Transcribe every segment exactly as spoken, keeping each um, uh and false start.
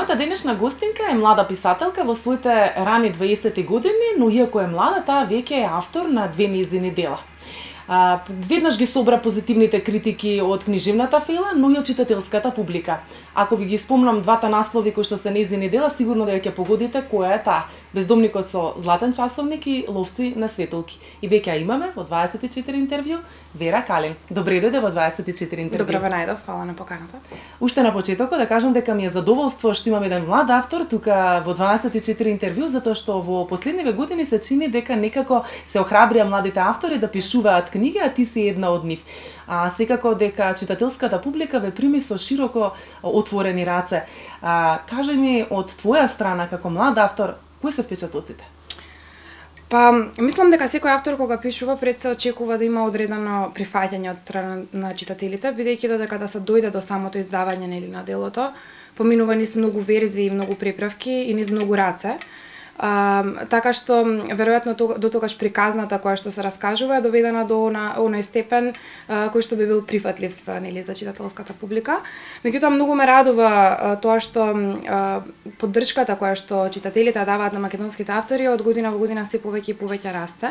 Мојата денешна гостинка е млада писателка во своите рани дваесетти години, но иако е млада, таа веќе е автор на две нејзини дела. А, веднаш ги собра позитивните критики од книжевната фела, но и од читателската публика. Ако ви ги спомнам двата наслови кои што се нејзини дела, сигурно дека ќе погодите која е таа. Бездомникот со златен часовник и Ловци на светолки. И веќе ја имаме во дваесет и четири интервју Вера Калин. Добре дојде во дваесет и четири интервју. Добро ве најдов, фала на поканата. Уште на почетокот да кажам дека ми е задоволство што имам еден млад автор тука во дваесет и четири интервју, затоа што во последниве години се чини дека некако се охрабрија младите автори да пишуваат книги, а ти си една од нив. А секако дека читателската публика ве прими со широко отворени раце. А, кажи ми од твоја страна како млад автор, кои се впечатоците? Па, мислам дека секој автор кога пишува пред се очекува да има одредено прифаќање од страна на читателите, бидејќи додека да се дојде до самото издавање нели на делото, поминува низ многу верзии, многу преправки и низ многу раце. А, така што веројатно до тогаш приказната која што се раскажува е доведена до на оној степен а, кој што би бил прифатлив нели за читателската публика. Меѓутоа многу ме радува а, тоа што а, поддршката која што читателите даваат на македонските автори од година во година се повеќе и повеќе расте.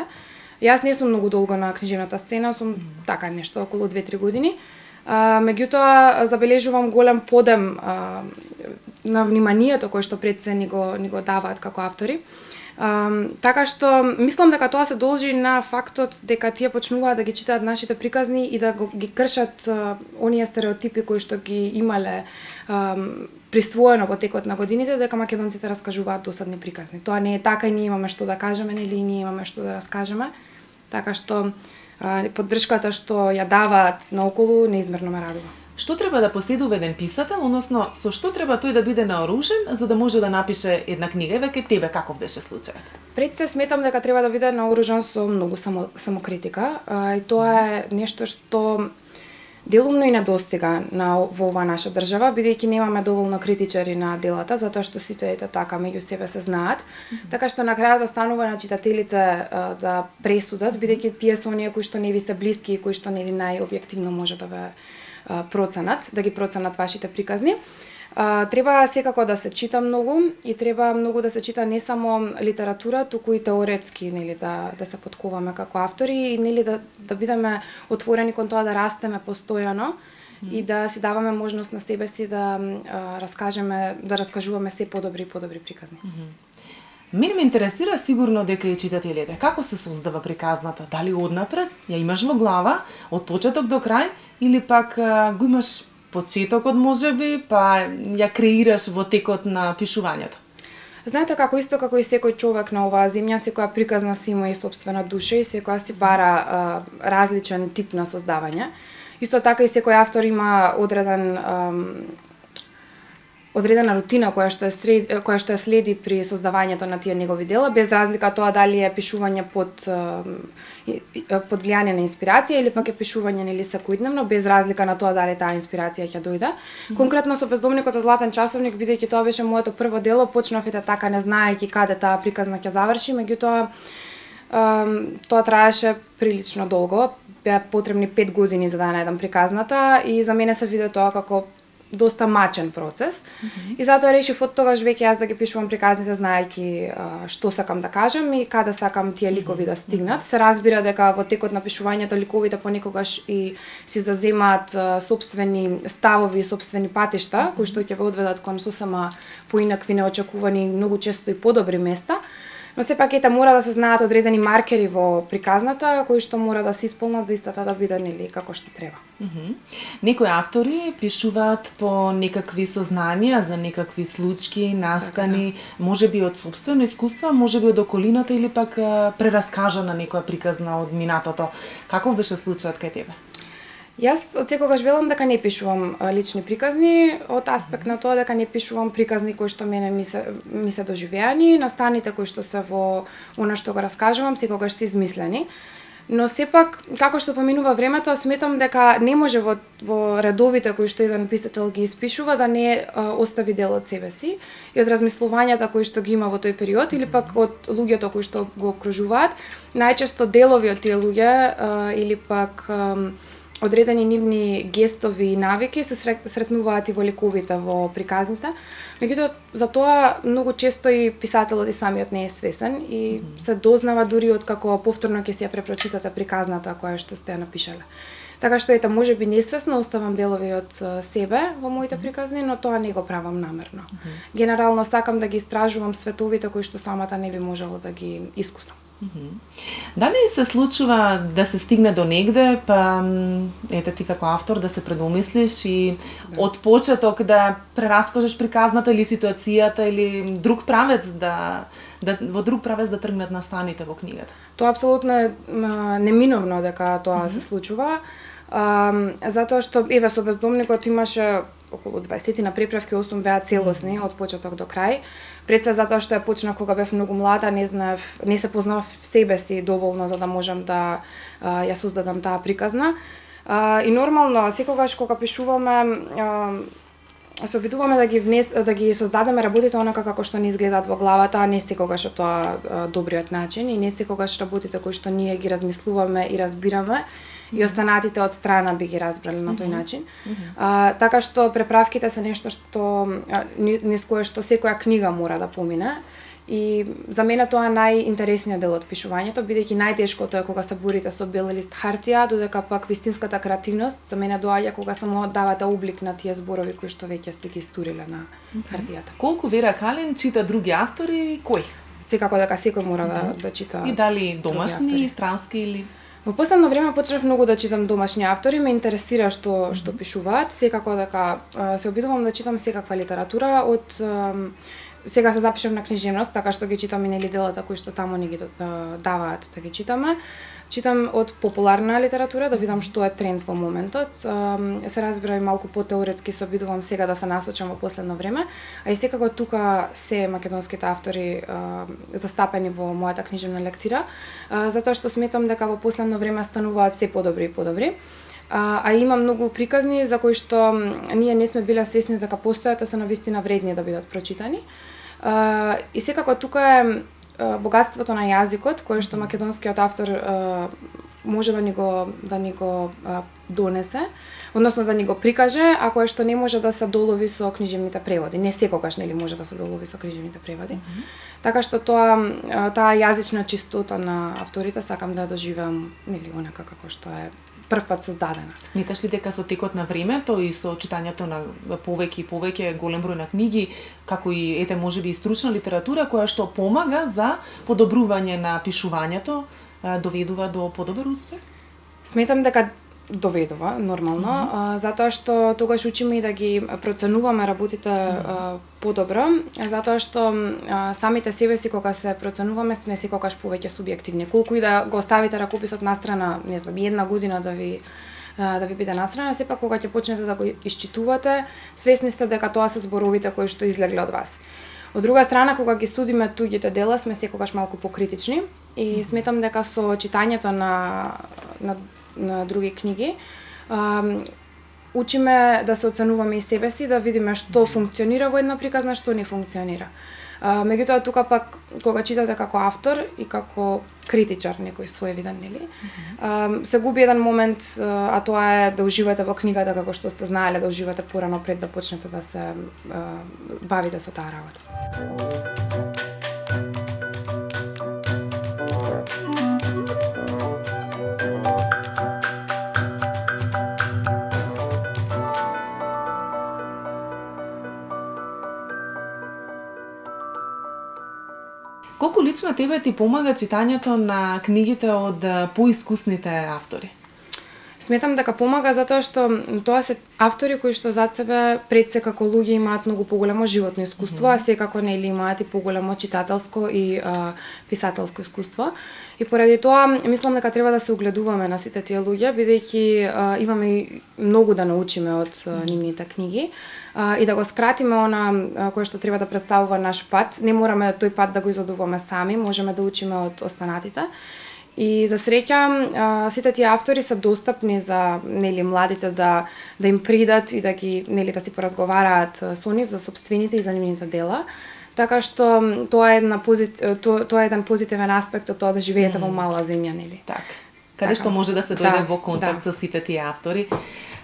Јас не сум многу долго на книжевната сцена, сум така нешто околу две-три години. А, меѓутоа забележувам голем подем а, на вниманието кое што пред се ни го, ни го даваат како автори. А, така што мислам дека тоа се должи на фактот дека тие почнуваат да ги читаат нашите приказни и да го, ги кршат а, оние стереотипи кои што ги имале а, присвоено во текот на годините, дека македонците раскажуваат досадни приказни. Тоа не е така и ние имаме што да кажеме, нели и ние имаме што да раскажеме. Така што а, поддршката што ја даваат наоколу неизмерно ме радува. Што треба да поседува еден писател, односно со што треба тој да биде наоружен за да може да напише една книга? Веќе тебе каков беше случајот? Пред се сметам дека треба да биде наоружен со многу само, самокритика, а, и тоа е нешто што делумно и недостига на во оваа наша држава, бидејќи немаме доволно критичари на делата, затоа што сите ете така меѓу себе се знаат. Mm-hmm. Така што на крајот останува на читателите а, да пресудат, бидејќи тие се оние кои што не ви се блиски и кои што нели најобјективно може да ве проценат, да ги проценат вашите приказни. А, треба секако да се чита многу и треба многу да се чита не само литература, туку и теоретски, нели да да се подковаме како автори и нели да да бидеме отворени кон тоа да растеме постојано mm. и да си даваме можност на себе си да а, раскажеме, да раскажуваме се подобри и подобри приказни. Mm -hmm. Мене ме интересира сигурно дека и читателите. Како се создава приказната? Дали однапред ја имаш во глава од почеток до крај или пак а, го имаш почетокот можеби, па ја креираш во текот на пишувањето? Знаете како исто како и секој човек на оваа земја, секоја приказна си има и сопствена душа и секоја си бара а, различен тип на создавање. Исто така и секој автор има одреден а, одредена рутина која што е сред, која што е следи при создавањето на тие негови дела, без разлика тоа дали е пишување под под влијание на инспирација или пак е пишување нели секојдневно, без разлика на тоа дали таа инспирација ќе дојде. Mm-hmm. Конкретно со Бездомникот со златен часовник, бидејќи тоа беше моето прво дело, почнав ете така не знаејќи каде таа приказна ќе заврши, меѓутоа тоа траеше прилично долго. Беа потребни пет години за да најдам приказната и за мене се виде тоа како доста мачен процес. Mm-hmm. И затоа решив од тогаш веќе јас да ги пишувам приказните знаејќи а, што сакам да кажам и каде сакам тие ликови mm-hmm. да стигнат. Се разбира дека во текот на пишувањето ликовите понекогаш и си заземаат а, собствени ставови и собствени патишта, mm-hmm. кои што ќе ве одведат кон сосема поинакви, неочекувани, многу често и подобри места. Но сепак ете мора да се знаат одредени маркери во приказната кои што мора да се исполнат за истата да биде нели како што треба. Mm -hmm. Некои автори пишуваат по некакви сознанија за некакви случаи, настани, така, да. Можеби од сопствено искуство, можеби од околината или пак прераскажана некоја приказна од минатото. Каков беше случајот кај тебе? Јас од секогаш велам дека не пишувам лични приказни, од аспект на тоа дека не пишувам приказни кои што мене ми се, ми се доживеани, настаните кои што се во она што го раскажувам, секогаш се измислени. Но сепак, како што поминува времето, сметам дека не може во, во редовите кои што еден писател ги испишува да не а, остави дел од себе си и од размислувањата кои што ги има во тој период или пак од луѓето кои што го окружуваат. Најчесто делови од тие луѓе а, или пак а, одредени нивни гестови и навики се сретнуваат и во ликовите, во приказните. Меѓутоа, за тоа многу често и писателот и самиот не е свесен и mm -hmm. се дознава дури од како повторно ќе си ја препрочитате приказната која што сте ја напишале. Така што ета можеби несвесно оставам делови од себе во моите приказни, но тоа не го правам намерно. Mm -hmm. Генерално сакам да ги истражувам световите кои што самата не би можела да ги искусам. Дали се случува да се стигне до негде, па ете ти како автор да се предумислиш и да. Од почеток да прераскажеш приказната или ситуацијата или друг правец да, да во друг правец да тргнат настаните во книгата? Тоа апсолутно е неминовно дека тоа mm -hmm. се случува. А, затоа што еве со Бездомникот имаше околу дваесет на преправки, осум беа целосни од почеток до крај. Пред се затоа што ја почнав кога бев многу млада, не знаев, не се познавав себе си доволно за да можам да а, ја создадам таа приказна. А, и нормално секогаш кога пишуваме а, се обидуваме да ги внес, да ги создадеме работите онака како што ни изгледаат во главата, а не секогаш тоа а, добриот начин и не секогаш работите кои што ние ги размислуваме и разбираме и останатите од страна би ги разбрале на тој начин. Mm -hmm. а, така што преправките се нешто што низ кое што секоја книга мора да помине. И за мене тоа е најинтересниот дел од пишувањето, бидејќи најтешкото е кога се борите со бел лист хартија, додека пак вистинската креативност за мене доаѓа кога само давате облик на тие зборови кои што веќе сте ги стуриле на хартијата. Колку Вера Калин чита други автори, кој? Секако дека секој мора да, да чита. И дали домашни, странски или... Во последно време почнав многу да читам домашни автори, ме интересира што mm -hmm. што пишуваат, секако дека се обидувам да читам секаква литература од сега се запишав на книжевност, така што ги читам и нели делата кои што таму ни ги даваат да ги читаме. Читам од популарна литература да видам што е тренд во моментот. Се разбира и малку потеоретски се обидувам сега да се насочам во последно време, а и секако тука се македонските автори застапени во мојата книжевна лектира, затоа што сметам дека во последно време стануваат се подобри и подобри. А, а има многу приказни за кои што ние не сме биле свесни дека постојат, а се навистина вредни да бидат прочитани. А, и секако тука е богатството на јазикот кое што македонскиот автор а, може да ни го да ни го а, донесе, односно да ни го прикаже, а кое што не може да се долови со книжевните преводи. Не секогаш нели може да се долови со книжевните преводи. Mm -hmm. Така што тоа таа јазична чистота на авторите сакам да ја доживеам нели онака како што е првпат создадена. Сметаш ли дека со текот на времето и со читањето на повеќе и повеќе голем број на книги, како и ете можеби и стручна литература која што помага за подобрување на пишувањето, доведува до подобар успех? Сметам дека доведува нормално, mm -hmm. а, затоа што тогаш учиме и да ги проценуваме работите mm -hmm. а, подобро, затоа што а, самите себе си кога се проценуваме сме секогаш повеќе субјективни. Колку и да го оставите ракописот настрана, не знам, една година да ви а, да ви биде настрана, сепак кога ќе почнете да го исчитувате, свесни сте дека тоа се зборовите кои што излегле од вас. Од друга страна, кога ги студиме туѓите дела, сме секогаш малку покритични и mm -hmm. сметам дека со читањето на на на други книги, а, учиме да се оценуваме и себе си, да видиме што функционира во една приказна, што не функционира. А, меѓутоа тука пак кога читате како автор и како критичар некој своевиден, нели? Mm-hmm. А, се губи еден момент, а тоа е да уживате во книгата како што сте знаеле да уживате порано пред да почнете да се а, бавите со таа работа. Колку лично тебе ти помага читањето на книгите од поискусните автори? Сметам дека помага затоа што тоа се автори кои што зад себе пред се како луѓе имаат многу поголемо животно искуство, mm-hmm. а секако нели имаат и поголемо читателско и а, писателско искуство. И поради тоа мислам дека треба да се огледуваме на сите тие луѓе, бидејќи а, имаме и многу да научиме од а, нивните книги а, и да го скратиме она а, кое што треба да представува наш пат. Не мораме тој пат да го изодуваме сами, можеме да учиме од останатите. И за среќа сите тие автори се достапни за нели младите да да им придат и да ги нели да си поразговараат со нив за сопствените и за нивните дела. Така што тоа е една позит... тоа, тоа е еден позитивен аспект од тоа да живеете mm. во мала земја, нели? Так. каде така. што може да се дојде Да, во контакт да. со сите тие автори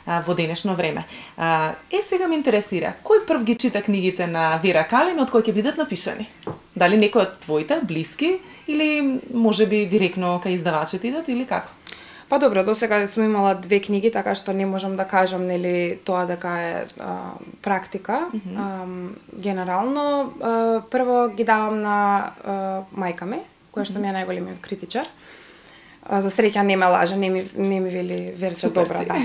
а, во денешно време. А, е, сега ме интересира, кој прв ги чита книгите на Вера Калин, од кој ќе бидат напишани? Дали некој од твоите блиски или можеби директно кај издавачите идат или како? Па добро, досега сум имала две книги, така што не можам да кажам нели тоа дека е а, практика. Mm -hmm. а, генерално, а, прво ги давам на а, мајка ми, која што ми е најголемиот критичар. А, за среќа не ме лаже, не ми, не ми вели Верче добра, да.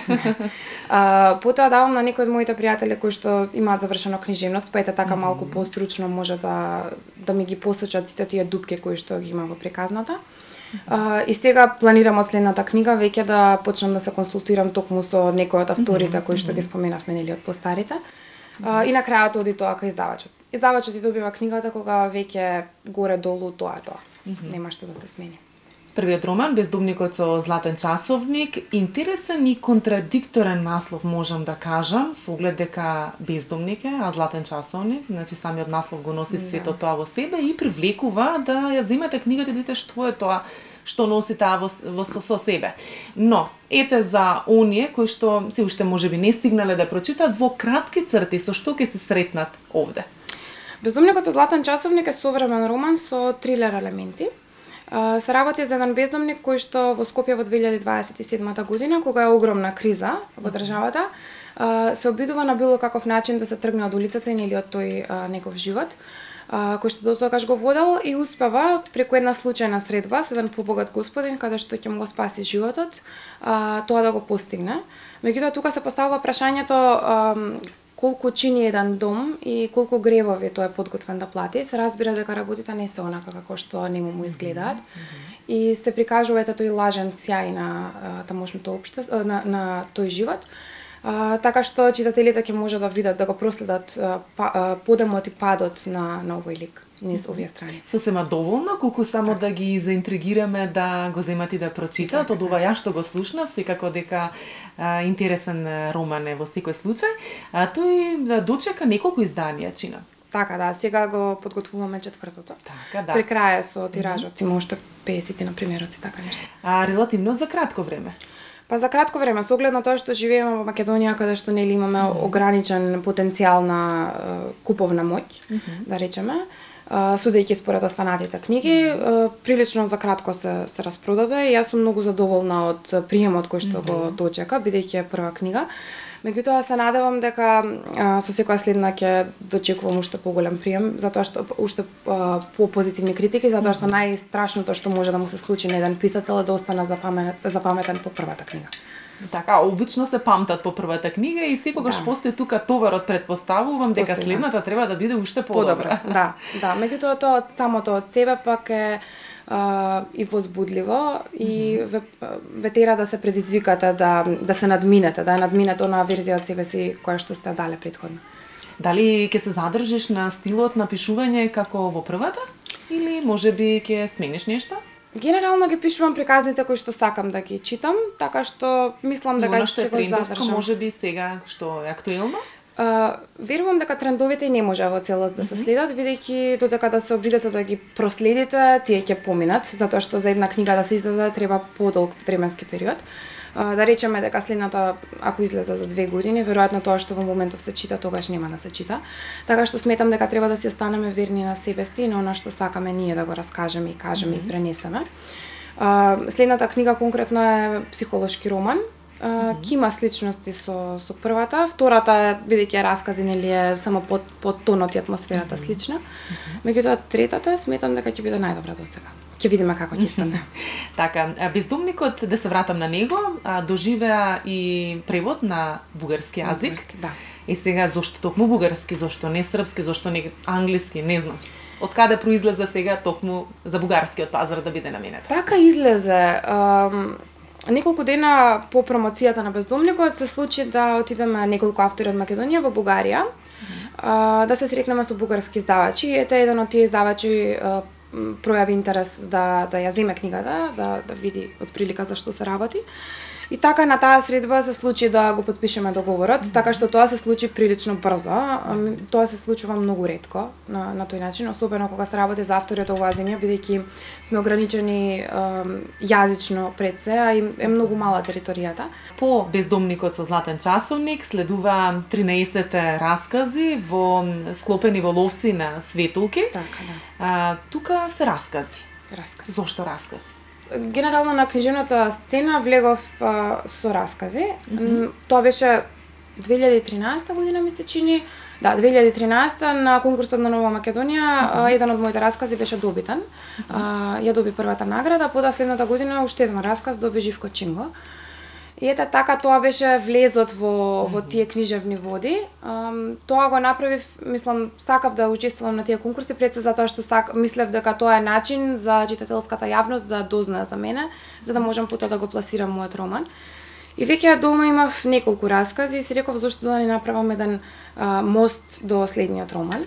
а, потоа давам на некои од моите пријатели кои што имаат завршено книжевност, па ете така малку постручно може да да ми ги посочат сите тие дупки кои што ги има во приказната. Uh, и сега планирам од следната книга веќе да почнам да се консултирам токму со некои од авторите кои што ги споменавме нели од постарите. Uh, и на крајот оди тоа кај издавачот. Издавачот и добива книгата кога веќе горе долу тоа е тоа. Mm -hmm. Нема што да се смени. Првиот роман, Бездомникот со златен часовник, интересен и контрадикторен наслов можам да кажам, со оглед дека бездомник е, а златен часовник, значи самиот наслов го носи сето тоа во себе и привлекува да ја земете книгата и да видите што е тоа што носи таа во, во со, со себе. Но, ете за оние кои што се уште можеби не стигнале да прочитаат во кратки црти, со што ќе се сретнат овде? Бездомникот со златен часовник е современ роман со трилер елементи. Uh, се работи за еден бездомник кој што во Скопје во две илјади дваесет и седма година, кога е огромна криза во државата, uh, се обидува на било каков начин да се тргне од улицата или од тој uh, негов живот, uh, кој што досегаш го водел и успева преку една случајна средба со еден побогат господин каде што ќе му го спаси животот, uh, тоа да го постигне. Меѓутоа тука се поставува прашањето uh, колку чини еден дом и колку гревови тој е подготвен да плати. Се разбира дека работите не се онака како што нему му изгледаат. Mm-hmm. И се прикажува ето тој лажен сјај на тамошното општество, на, на тој живот. А, така што читателите ќе може да видат, да го проследат па, подемот и падот на, на овој лик низ овие страници. Сосема доволно, колку само так. Да ги заинтригираме да го земат и да прочитаат. Од ова ја што го слушнав, секако дека а, интересен роман е во секој случај. А, тој да дочека неколку изданија, чина. Така, да, сега го подготвуваме четвртото. Така, да. При крај со тиражот, mm-hmm. има уште песет на примероци, така нешто. А релативно за кратко време? Па за кратко време, со оглед на тоа што живееме во Македонија, каде што нели имаме mm-hmm. ограничен потенцијал на uh, куповна моќ, mm-hmm. да речеме, uh, судејќи според останатите книги, uh, прилично за кратко се, се распродаде и јас сум многу задоволна од приемот кој што mm-hmm. го дочека, бидејќи е прва книга. Меѓутоа се надевам дека а, со секоја следна ќе дочекувам уште поголем прием, затоа што уште а, по-позитивни критики, затоа што најстрашното што може да му се случи на еден писател е да остане запаметен, запаметен по првата книга. Така, обично се памтат по првата книга и секогаш да. Постои тука товарот, предпоставувам дека постои, следната треба да биде уште подобра. Да, да, меѓутоа тоа од самото од себе пак е Uh, и возбудливо и mm-hmm. ве, ве тера да се предизвикате да да се надминете, да надминете онаа верзија од себе си која што сте дале претходно. Дали ќе се задржиш на стилот на пишување како во првата или можеби ќе смениш нешто? Генерално ги пишувам приказните кои што сакам да ги читам, така што мислам дека ќе го задржам. Можеби сега што е актуелно? Uh, верувам дека трендовите не може во целост да се следат, бидејќи додека да се обидете да ги проследите, тие ќе поминат, затоа што за една книга да се издаде треба подолг временски период. Uh, да речеме дека следната, ако излезе за две години, веројатно тоа што во моментов се чита, тогаш нема да се чита. Така што сметам дека треба да си останеме верни на себе си и на она што сакаме ние да го раскажеме и кажеме mm-hmm. и пренесеме. Uh, следната книга конкретно е психолошки роман. Uh, ки има сличности со со првата, втората бидејќи е раскази нели е само под под тонот и атмосферата слична. Меѓутоа третата сметам дека ќе биде најдобра досега. Ќе видиме како ќе испадне. Така, Бездомникот, да се вратам на него, доживеа и превод на бугарски јазик. Бугарски, да. И сега зошто токму бугарски, зошто не српски, зошто не англиски, не знам. Од каде произлезе сега токму за бугарскиот пазар да биде наменет? Така излезе. Um... Неколку дена по промоцијата на Бездомникот се случи да отидеме неколку автори од Македонија во Бугарија, mm-hmm. да се сретнеме со бугарски издавачи. Ете еден од тие издавачи пројави интерес да да ја земе книгата, да да види од прилика за што се работи. И така на таа средба се случи да го потпишеме договорот, mm -hmm. така што тоа се случи прилично брзо. Тоа се случува многу ретко на на тој начин, особено кога се работи за автори од оваа земја, бидејќи сме ограничени е, јазично пред се, а и е многу мала територијата. По Бездомникот со златен часовник следува тринаесет раскази во склопени во ловци на светулки. Така, да. А, тука се раскази. Раскази. Зошто раскази? Генерално на книжевната сцена влегов а, со раскази. Mm -hmm. Тоа беше две илјади и тринаесета година, ми се чини. Да, две илјади и тринаесета на конкурсот на Нова Македонија, mm -hmm. еден од моите раскази беше добитен. Mm -hmm. а, ја доби првата награда, потоа следната година уште еден расказ доби Живко Чинго. И ете така тоа беше влезот во mm -hmm. во тие книжевни води. Um, тоа го направив, мислам, сакав да учествувам на тие конкурси пред се затоа што сак, мислев дека тоа е начин за читателската јавност да дознае за мене, за да можам потоа да го пласирам мојот роман. И веќе дома имав неколку раскази и си реков зошто да не направам еден а, мост до следниот роман.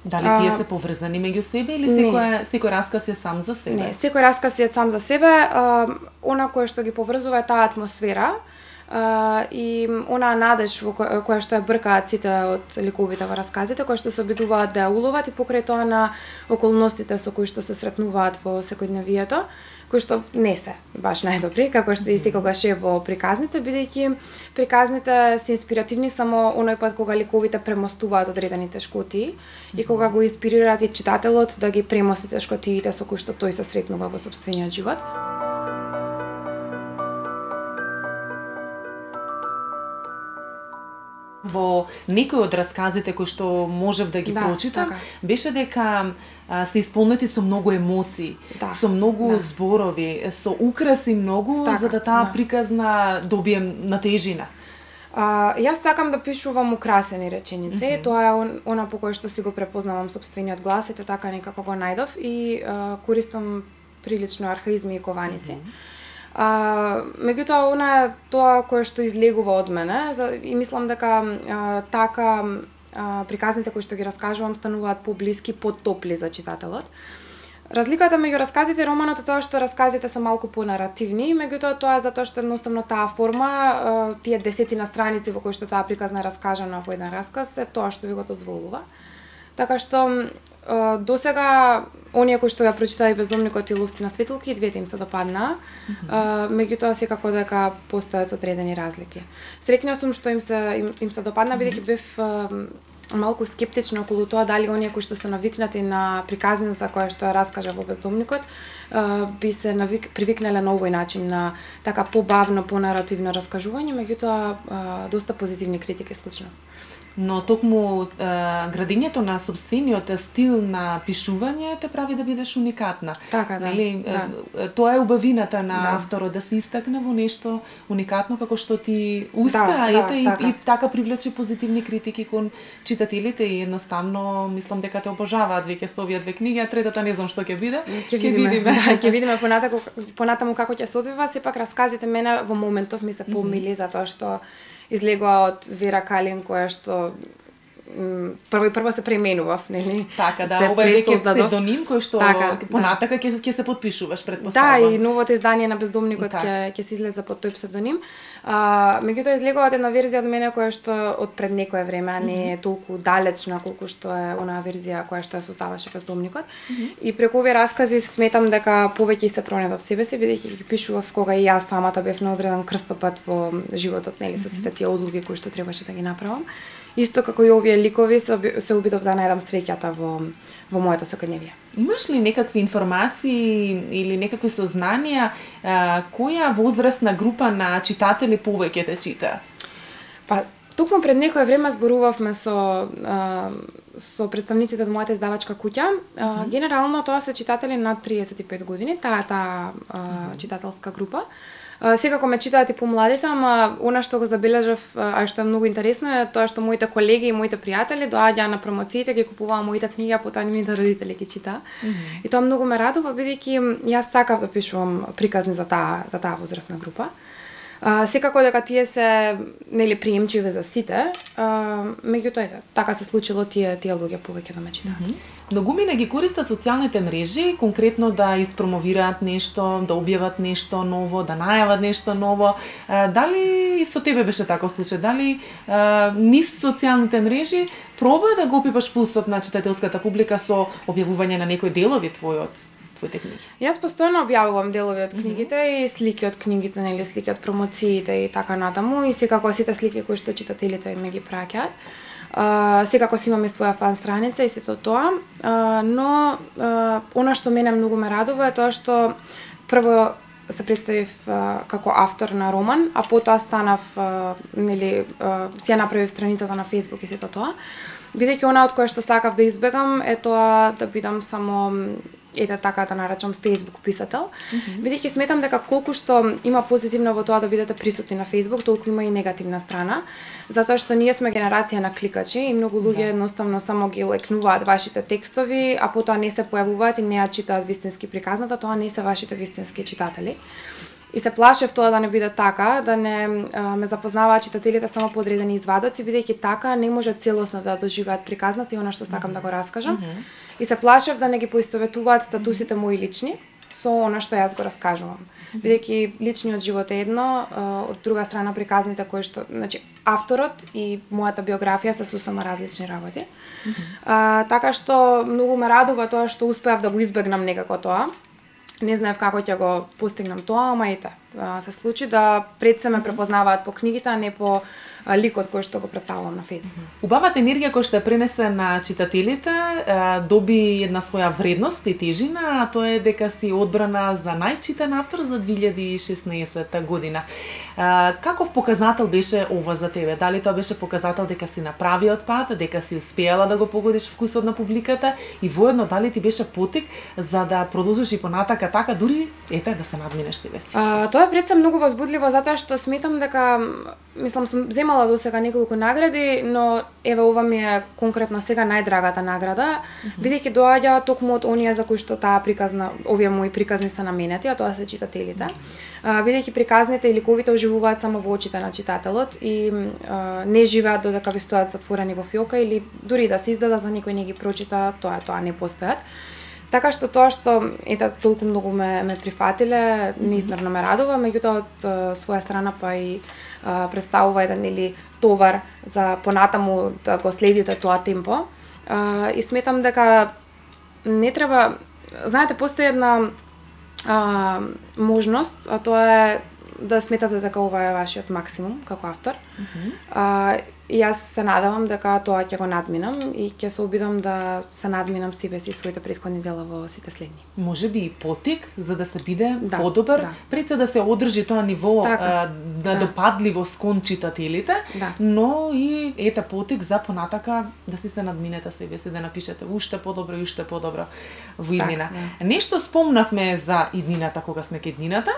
Дали тие се поврзани меѓу себе или секој секој расказ е сам за себе? Не, секој расказ е сам за себе. А, она кое што ги поврзува е таа атмосфера а, и онаа надеж во која, која што ја бркаат сите од ликовите во расказите, кои што се обидуваат да ја уловат и покрај тоа на околностите со кои што се сретнуваат во секојдневието, кои што не се баш најдобри, како што и секогаш е во приказните, бидејќи приказните се инспиративни само оној пат кога ликовите премостуваат одредени тешкотии и кога го инспирираат и читателот да ги премости тешкотиите со кои што тој се сретнува во сопствениот живот. Во некои од расказите кои што можев да ги да, прочитам, така. беше дека а, се исполнети со многу емоции, да, со многу да. зборови, со украси многу, така, за да таа да. приказна добие на тежина. А, јас сакам да пишувам украсени реченици, mm -hmm. тоа е он, она по кој што си го препознавам сопствениот глас, ето така некако го најдов и а, користам прилично архаизми и кованици. Mm -hmm. А, меѓутоа, она е тоа кое што излегува од мене за, и мислам дека а, така а, приказните кои што ги раскажувам стануваат поблиски, потопли за читателот. Разликата меѓу расказите и романот е тоа што расказите се малку понаративни, меѓутоа тоа е затоа што едноставно таа форма, тие десетина страници во кои што таа приказна е раскажана во еден расказ, е тоа што ви го дозволува. Така што досега оние кои што ја прочитаа и Бездомникот и Ловци на светулки, двете им се допаднаа, mm -hmm. меѓутоа секако дека постојат одредени разлики. Среќна сум што им се им, им се допадна, бидејќи бев малку скептична околу тоа дали оние кои што се навикнати на приказнината која што ја раскажа во Бездомникот би се навик, привикнале на овој начин на така побавно, понаративно раскажување, меѓутоа доста позитивни критики случно. Но токму е, градењето на сопствениот стил на пишување те прави да бидеш уникатна. Така, да. Нели, да. Тоа е убавината на да. авторот да се истакне во нешто уникатно како што ти успеа, да, ете, да, и, така. и така привлече позитивни критики кон читателите и едноставно мислам дека те обожаваат веќе со овие две книги, а третата не знам што ќе биде. Ќе видиме. видиме. Да, ќе видиме понатаму понатаму како ќе се одвива, сепак расказите мене во моментов ми се помили mm -hmm. затоа што излегува од Вера Калин која што прво и прво се пременував, нели? Така, да, ова е веќе псевдоним кој што така, понатака ќе ќе се подпишуваш предпоставувам. Да, и новото издание на Бездомникот ќе ќе се излезе под тој псевдоним. А, меѓутоа излегува една верзија од мене која што од пред некое време, а не е толку далечна колку што е онаа верзија која што ја создаваше Бездомникот. Mm -hmm. И преку овие раскази сметам дека повеќе се пронедов себе си, бидејќи ги пишував кога и јас самата бев на одреден крстопат во животот, нели, со сите тие одлуки кои што требаше да ги направам. Исто како и овие ликови се, се обидов да најдам среќата во во моето секојдневие. Имаш ли некакви информации или некакви сознанија а, која возрастна група на читатели повеќе те читаат? Па токму пред некое време зборувавме со а, со представниците од мојата издавачка куќа. А, mm -hmm. Генерално тоа се читатели над триесет и пет години, таа е таа а, mm -hmm. читателска група. Секако ме читаат и помладите, ама она што го забележав, а што е многу интересно е тоа што моите колеги и моите пријатели доаѓаа на промоциите, ги купуваа моите книги, а потоа нивните родители ги читаа. Mm -hmm. И тоа многу ме радува, бидејќи јас сакав да пишувам приказни за таа за таа возрастна група. А, секако дека тие се нели приемчиви за сите, а, меѓутоа ете, така се случило тие тие луѓе повеќе да ме читаат. Mm -hmm. Многумина ги користат социјалните мрежи, конкретно да испромовираат нешто, да објават нешто ново, да најават нешто ново. А, дали и со тебе беше таков случај? Дали а, низ социјалните мрежи проба да го опипаш пулсот на читателската публика со објавување на некои делови твојот? Книги. Јас постојано објавувам делови од книгите mm -hmm. и слики од книгите, нели слики од промоциите и така натаму, и секако сите слики кои што читателите ми ги праќаат. Uh, секако си имаме своја фан страница и сето тоа, uh, но uh, она што мене многу ме радува е тоа што прво се представив uh, како автор на роман, а потоа станав uh, нели uh, си ја направив страницата на Facebook и сето тоа. Бидејќи она од кое што сакав да избегам е тоа да бидам само ете така да наречам Facebook писател, mm -hmm. бидејќи сметам дека колку што има позитивно во тоа да бидете присутни на Facebook, толку има и негативна страна, затоа што ние сме генерација на кликачи и многу луѓе да. едноставно само ги лекнуваат вашите текстови, а потоа не се појавуваат и не ја читаат вистински приказната, тоа не се вашите вистински читатели. И се плашев тоа да не биде така, да не а, ме запознаваат читателите само по одредени извадоци, бидејќи така не може целосно да доживеат приказната и она што сакам mm -hmm. да го раскажам. Mm -hmm. И се плашев да не ги поистоветуваат статусите мои лични со она што јас го раскажувам. Mm -hmm. Бидејќи личниот живот е едно, а, од друга страна приказните кои што, значи авторот и мојата биографија се сосема различни работи. Mm -hmm. а, така што многу ме радува тоа што успеав да го избегнам некако тоа. Не знаев како ќе го постигнам тоа, ама ете, се случи да пред се ме препознаваат по книгите, а не по ликот кој што го представувам на Facebook. Убавата енергија која што ја пренесе на читателите доби една своја вредност и тежина, а тоа е дека си одбрана за најчитан автор за две илјади и шеснаесетта година. Каков показател беше ова за тебе? Дали тоа беше показател дека си на правиот пат, дека си успеала да го погодиш вкусот на публиката и воедно дали ти беше потик за да продолжиш и понатака така, дури ете да се надминеш себе си? А, тоа е пред се многу возбудливо затоа што сметам дека мислам сум земала до сега неколку награди, но еве ова ми е конкретно сега најдрагата награда, mm -hmm. бидејќи доаѓа токму од оние за кои што таа приказна, овие мои приказни се наменети, а тоа се читателите. А, бидејќи приказните и ликовите оживуваат само во очите на читателот и а, не живеат додека ви стојат затворени во фиока или дури да се издадат, а никој не ги прочита, тоа тоа не постојат. Така што тоа што ете толку многу ме ме прифатиле, неизмерно ме радува, меѓутоа од а, своја страна па и а, представува еден или товар за понатаму да го следите тоа темпо. А, и сметам дека не треба, знаете, постои една а, можност, а тоа е да сметате дека ова е вашиот максимум како автор. Mm -hmm. а, И јас се надевам дека тоа ќе го надминам и ќе се обидам да се надминам себе си и своите претходни дела во сите следни. Може би и потик за да се биде да, подобар, да. пред се да се одржи тоа ниво така, а, на да. допадливост кон читателите, да. но и ета потик за понатака да си се надминете себе си, да напишете уште подобро и уште подобро во иднина. Так, да. Нешто спомнавме за иднината кога сме ке иднината,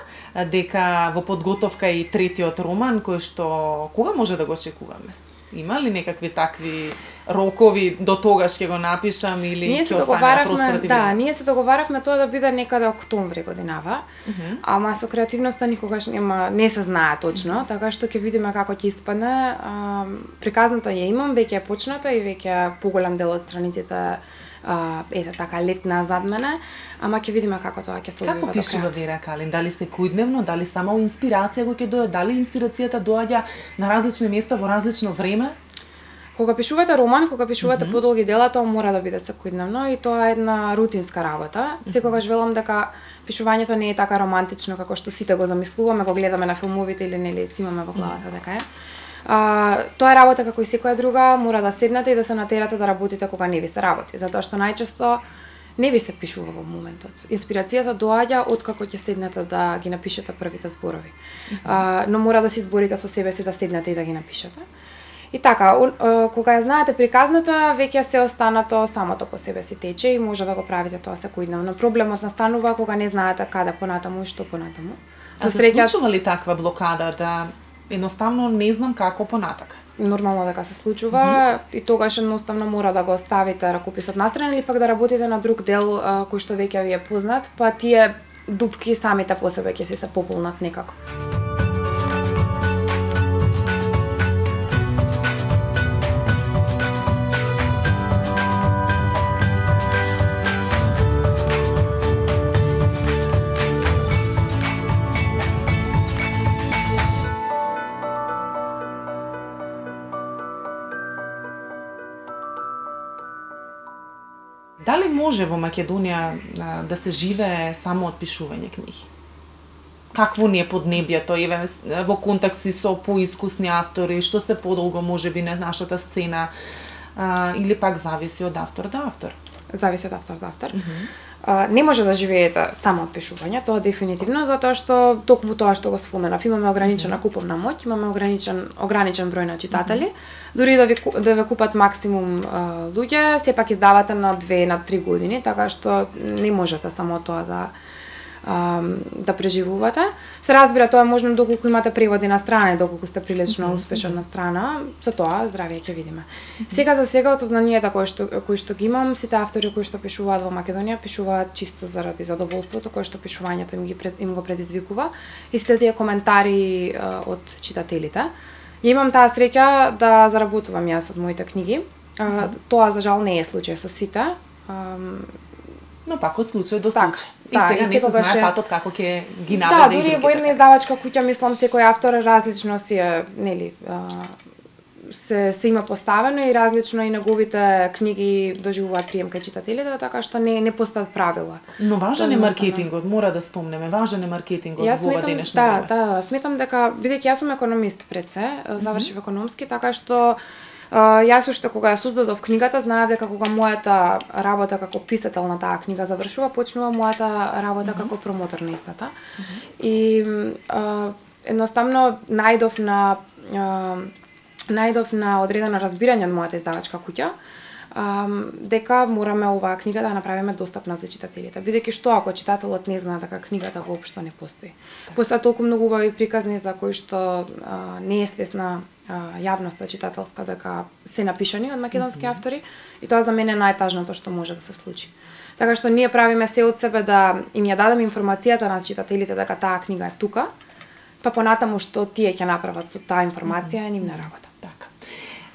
дека во подготовка и третиот роман кој што кога може да го очекуваме? Има ли некакви такви рокови до тогаш ќе го напишам или ние ќе остане на просторот? Да, ние се договаравме тоа да биде некаде октомври годинава. Uh -huh. Ама со креативноста никогаш нема не се знае точно, uh -huh. така што ќе видиме како ќе испадне. А, приказната ја имам, веќе е почната и веќе поголем дел од страниците а, ете така летна зад мене, ама ќе видиме како тоа ќе се одвива до крај. Како пишува Вера Калин? Дали секојдневно, дали само инспирација го ќе дојде, дали инспирацијата доаѓа на различни места во различно време? Кога пишувате роман, кога пишувате mm -hmm. подолги дела, тоа мора да биде секојдневно и тоа е една рутинска работа. Mm -hmm. Секогаш велам дека пишувањето не е така романтично како што сите го замислуваме, го гледаме на филмовите или нели си имаме во главата дека е. А, тоа е работа како и секоја друга, мора да седнете и да се натерате да работите кога не ви се работи, затоа што најчесто не ви се пишува во моментот. Инспирацијата доаѓа од како ќе седнете да ги напишете првите зборови. Mm -hmm. а, но мора да се изборите со себе си да седнете и да ги напишете. И така, кога ја знаете приказната, веќе се останато самото по себе си тече и може да го правите тоа секојдневно. Проблемот настанува кога не знаете каде понатаму и што понатаму. А се среќа... случува ли таква блокада да едноставно не знам како понатака? Нормално дека се случува mm -hmm. и тогаш едноставно мора да го ставите ракописот настрана или пак да работите на друг дел кој што веќе ви е познат, па тие дупки самите по себе ќе се се пополнат некако. Дали може во Македонија а, да се живее само од пишување книги? Какво ни е поднебјето, еве во контакти со поискусни автори, што се подолго можеби на нашата сцена, а, или пак зависи од автор до автор? Зависи од автор до автор. Mm -hmm. а, не може да живеете само од пишување, тоа дефинитивно, затоа што токму тоа што го споменав, имаме ограничена куповна моќ, имаме ограничен ограничен број на читатели. Mm -hmm. Дури да ви да ве купат максимум а, луѓе, сепак издавате на две на три години, така што не можете само тоа да да преживувате. Се разбира, тоа е можно доколку имате преводи на страна, доколку сте прилично mm -hmm. успешен на страна, за тоа здравје ќе видиме. Mm -hmm. Сега за сега од знанието кои што кои што ги имам, сите автори кои што пишуваат во Македонија пишуваат чисто заради задоволството кое што пишувањето им ги пред, им го предизвикува и сите тие коментари uh, од читателите. Ја имам таа среќа да заработувам јас од моите книги. Uh, mm -hmm. Тоа за жал не е случај со сите. Um, Но пак од случај до случај. И да, сега и не се знае ше... патот како ќе ги наведе. Да, дури во една издавачка куќа, мислам, секој автор различно си е, нели, а, се, се има поставено и различно и неговите книги доживуваат прием кај читателите, така што не не постојат правила. Но важен е маркетингот, мора да спомнеме, важен е маркетингот во ова денешно време. Да, да, сметам дека бидејќи јас сум економист пред се, завршив mm -hmm. економски, така што Uh, јас уште кога ја создадов книгата, знаев дека кога мојата работа како писател на таа книга завршува, почнува мојата работа mm -hmm. како промотор на истата. Mm -hmm. И uh, едноставно најдов на uh, најдов на одредено разбирање од мојата издавачка куќа, um, дека мораме оваа книга да направиме достапна за читателите. Бидејќи што ако читателот не знае дека книгата воопшто не постои. Постојат толку многу убави приказни за кои што uh, не е свесна јавноста читателска дека се напишани од македонски mm -hmm. автори и тоа за мене е најтажното што може да се случи. Така што ние правиме се од себе да им ја дадеме информацијата на читателите дека таа книга е тука, па понатаму што тие ќе направат со таа информација е нивна работа. Така.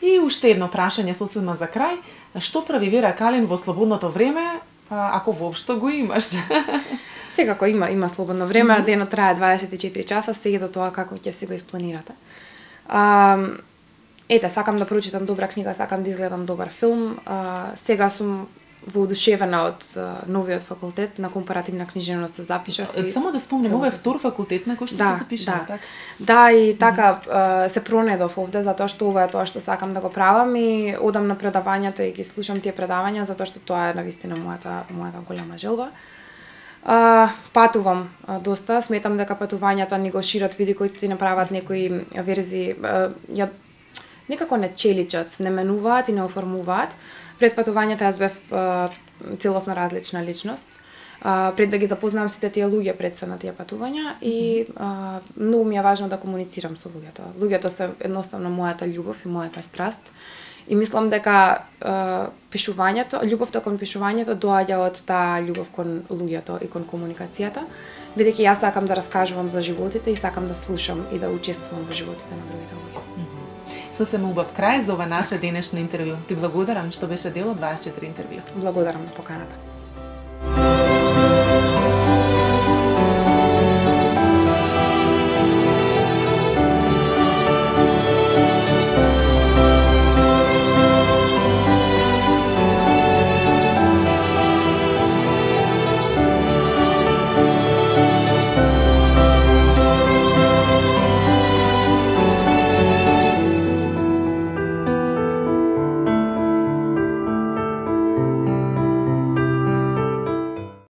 И уште едно прашање сосема за крај, што прави Вера Калин во слободното време, ако воопшто го имаш? Секако има има слободно време, mm -hmm. денот трае дваесет и четири часа, сега до тоа како ќе си го испланирате. Uh, ете, сакам да прочитам добра книга, сакам да изгледам добар филм. Uh, сега сум воодушевена од uh, новиот факултет на компаративна книжевност се запишав. И... Само да спомнем, ова е втор факултет на кој што да, се запишав, да. така? Да, и така uh, се пронедов овде затоа што ова е тоа што сакам да го правам и одам на предавањата и ги слушам тие предавања затоа што тоа е навистина мојата мојата голема желба. Uh, патувам uh, доста, сметам дека патувањата ни го шират види кои ти направат некои верзии, uh, ја некако не челичат, не менуваат и не оформуваат. Пред патувањата јас бев uh, целосно различна личност. Uh, пред да ги запознавам сите тие луѓе пред се на тие патувања и uh, многу ми е важно да комуницирам со луѓето. Луѓето се едноставно мојата љубов и мојата страст. И мислам дека uh, пишувањето, љубовта кон пишувањето доаѓа од таа љубов кон луѓето и кон комуникацијата, бидејќи јас сакам да раскажувам за животите и сакам да слушам и да учествувам во животите на другите луѓе. Mm -hmm. Сосема убав крај за ова наше денешно интервју. Ти благодарам што беше дел од дваесет и четири интервју. Благодарам на поканата.